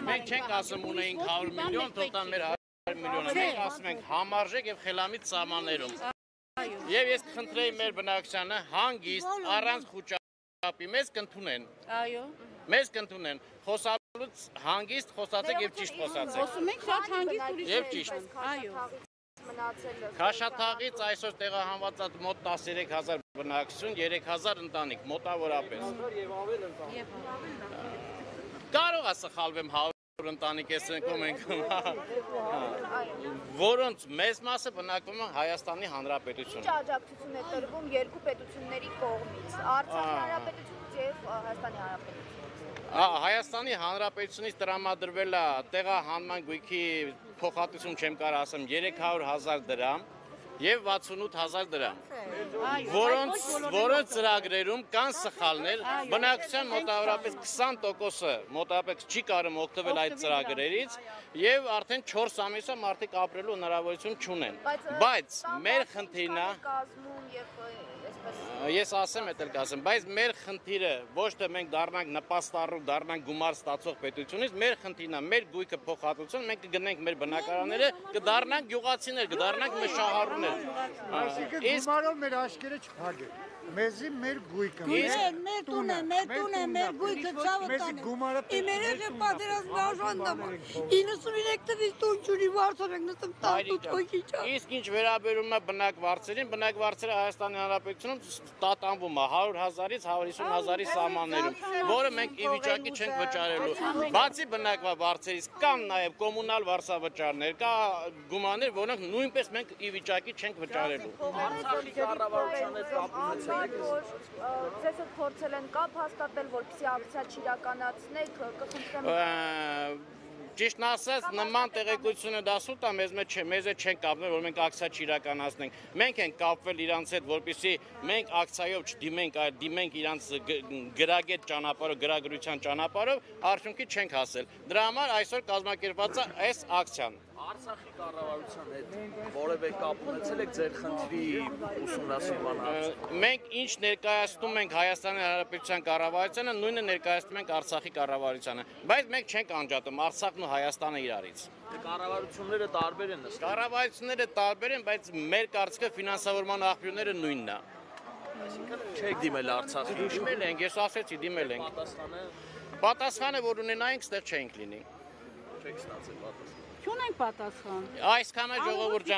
Մենք չենք ասում ունեինք 100 միլիոն, թող տան մեր 100 միլիոնը, մենք ասում ենք համարժեք եւ խելամիտ սահմաններում։ Եվ ես կխնդրեի մեր բնակչությանը հանգիստ առանց խուճապի մեզ կընդունեն։ Այո։ Մեզ կընդունեն։ Խոսալուց հանգիստ խոսացեք եւ ճիշտ խոսացեք։ Խոսում ենք շատ հանգիստ ուրիշ։ Եվ ճիշտ։ Այո։ Քաշաթաղից այսօր տեղահանված մոտ 13000 բնակչություն, 3000 ընտանիք, մոտավորապես։ Կարող է սխալվեմ 100 ընտանիք ես ընկում ենք, որոնց մեծ մասը բնակվում են Հայաստանի Հանրապետությունում։ Ինչ աջակցություն է տրվում երկու պետությունների կողմից, Արցախի Հանրապետությունից եւ Հայաստանի Հանրապետությունից։ Հայաստանի Հանրապետությունից տրամադրվել է տեղահանման գույքի փոխհատուցում չեմ կարող ասեմ 300,000 դրամ եւ 68,000 դրամ, որոնց ծրագրերում կան սխալներ, բնակչության մոտավորապես 20%-ը մոտավորապես չի կարող օգտվել այդ ծրագրերից եւ արդեն 4 ամիսա մարդիկ ապրելու հնարավորություն չունեն, բայց մեր խնդիրն է Ես ասեմ, էդ էլ կասեմ, բայց մեր խնդիրը ոչ թե մենք դառնանք նպաստառու, դառնանք գումար ստացող պետությունից, մեր խնդիրն է, մեր գույքը փոխհատուցում, մենք կգնենք մեր բնակարանները, կդառնանք գյուղացիներ, կդառնանք մեր շահառուներ։ Այսինքն գումարով մեր աշկերը չփակեք։ Մեզի մեր գույքը, մեր տունը, մեր գույքը ցավը տանը։ Իմերեջը պատերազմի արժանդամ։ 93 թվականից տուն չունի վարձով ենք նստում 18 հոգի չա։ Իսկ ինչ վերաբերում է բնակ վարձերին, բնակ վարձերը Հայաստանի Հանրապետությունում տատանվում է 100,000-ից 150,000-ի սահմաններում, որը մենք ի վիճակի չենք վճարելու։ Բացի բնակ վարձերից կան նաև կոմունալ վարձավճարներ, կա գումարներ, որոնք նույնպես մենք ի վիճակի չենք վճարելու։ Ձեզ հետ փորձել են կապ հաստատել, որպեսզի ակցիա չիրականացնեք, կխնդրեմ։ Ճիշտն ասած, նման տեղեկությունը դասուտ է, մեզ չեն կապվել, որ մենք ակցիա չիրականացնենք։ Մենք ենք կապվել իրանց հետ, որպեսզի մենք ակցիայով չդիմենք, այլ դիմենք իրանց գրագետ ճանապարհով, գրագրության ճանապարհով, արդյունքի չենք հասել։ Դրա համար այսօր կազմակերպված է այս ակցիան։ Արցախի կառավարության հետ որևէ կապ ունեցել եք ձեր խնդրի ուսումնասիրման հարցում։ Մենք ինչ ներկայացնում ենք Հայաստանի Հանրապետության կառավարությանը, նույնը ներկայացնում ենք Արցախի կառավարությանը, բայց մենք չենք անջատում Արցախն ու Հայաստանը իրարից։ Կառավարությունները տարբեր են ըստ։ Կառավարությունները տարբեր են, բայց մեր կարծիքը ֆինանսավորման աղբյուրները նույնն է։ Այսինքն չեք դիմել Արցախի։ Դիմել ենք, ես ասեցի, դիմել ենք։ Պատասխանը, որ ունենայինք, ստեղ չենք լինի։ Չեք ստացել պատասխան։ Չունենք պատասխան։ Այսքանը ժողովուրդ ջան